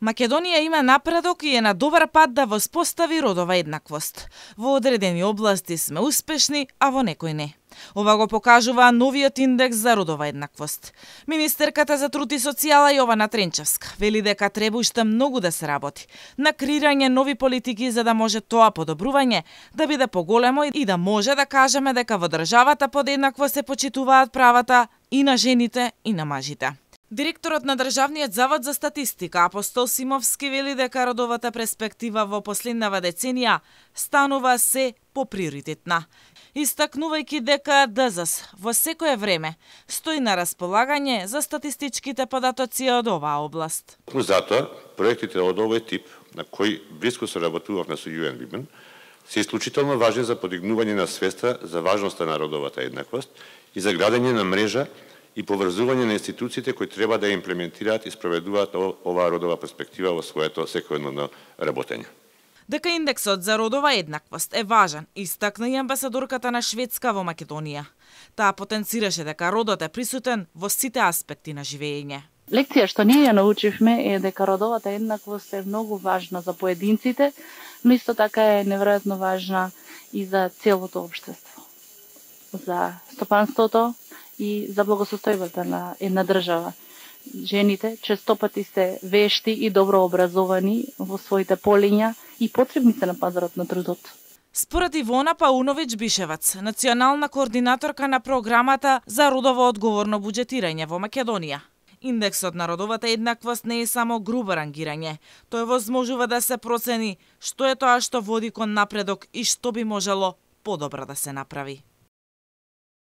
Македонија има напредок и е на добар пат да воспостави родова еднаквост. Во одредени области сме успешни, а во некои не. Ова го покажува новиот индекс за родова еднаквост. Министерката за труд и социјала Јована Тренчевска вели дека треба уште многу да се работи на креирање нови политики за да може тоа подобрување да биде поголемо и да може да кажеме дека во државата подеднакво се почитуваат правата и на жените и на мажите. Директорот на Државниот завод за статистика Апостол Симовски вели дека родовата перспектива во последнава деценија станува се поприоритетна, истакнувајќи дека ДЗС во секое време стои на располагање за статистичките податоци од оваа област. Затоа, проектите од овој тип, на кои блиско се работувавме со UN Women, се исклучително важни за подигнување на свеста за важноста на родовата еднаквост и за градење на мрежа и поврзување на институциите кои треба да имплементираат и спроведуваат оваа родова перспектива во своето секојдневно работење. Дека индексот за родова еднаквост е важен, истакна и амбасадорката на Шведска во Македонија. Таа потенцираше дека родот е присутен во сите аспекти на живење. Лекција што ние ја научивме е дека родовата еднаквост е многу важна за поединците, но исто така е неверојатно важна и за целото општество, за стопанството и за благосостојбата на една држава. Жените често пати се вешти и добро образовани во своите полиња и потребни се на пазарот на трудот. Според Ивона Пауновиќ Бишевац, национална координаторка на програмата за родово одговорно буџетирање во Македонија, индексот на родовата еднаквост не е само грубо рангирање, тој возможува да се процени што е тоа што води кон напредок и што би можело подобро да се направи.